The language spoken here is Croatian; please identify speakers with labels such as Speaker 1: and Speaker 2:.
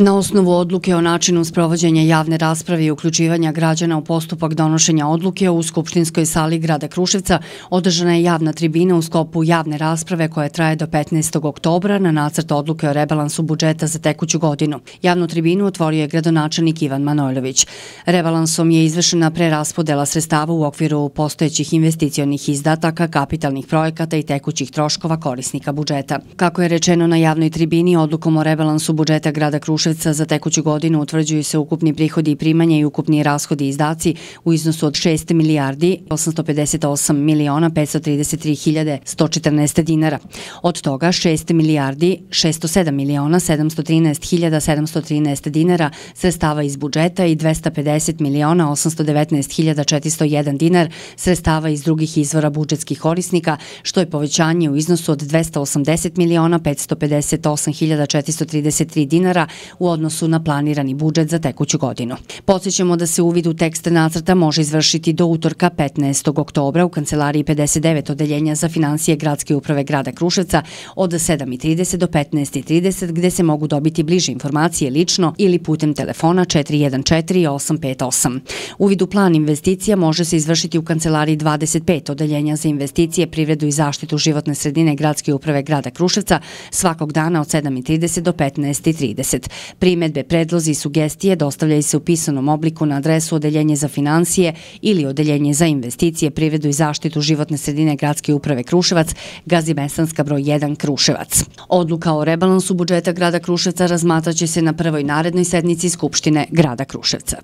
Speaker 1: Na osnovu odluke o načinu sprovođenja javne rasprave i uključivanja građana u postupak donošenja odluke u Skupštinskoj sali grada Kruševca održana je javna tribina u sklopu javne rasprave koja traje do 15. oktobra na nacrt odluke o rebalansu budžeta za tekuću godinu. Javnu tribinu otvorio je gradonačelnik Ivan Manojlović. Rebalansom je izvršena preraspodela sredstava u okviru postojećih investicionih izdataka, kapitalnih projekata i tekućih troškova korisnika budžeta. Kako je rečeno na javnoj tribini, odlukom o rebalansu budžeta grada Kruševca za tekuću godinu utvrđuju se ukupni prihodi i primanja i ukupni rashodi i izdaci u iznosu od 6 milijardi 858 miliona 533 hiljade 114 dinara. Od toga 6 milijardi 607 miliona 713 hiljada 713 dinara sredstava iz budžeta i 250 miliona 819 hiljada 401 dinar sredstava iz drugih izvora budžetskih korisnika, što je povećanje u iznosu od 280 miliona 558 hiljada 433 dinara u odnosu na planirani budžet za tekuću godinu. Podsjećamo da se uvid u tekst nacrta može izvršiti do utorka 15. oktobra u kancelariji 59 Odeljenja za finansije Gradske uprave grada Kruševca od 7:30 do 15:30, gde se mogu dobiti bliže informacije lično ili putem telefona 414 858. Uvid u plan investicija može se izvršiti u kancelariji 25 Odeljenja za investicije, privredu i zaštitu životne sredine Gradske uprave grada Kruševca svakog dana od 7:30 do 15:30. Primedbe, predlozi i sugestije dostavljaju se u pisanom obliku na adresu Odeljenje za finansije ili Odeljenje za investicije, privredu i zaštitu životne sredine Gradske uprave Kruševac, Gazimestanska broj 1 Kruševac. Odluka o rebalansu budžeta grada Kruševca razmatraće se na prvoj narednoj sednici Skupštine grada Kruševca.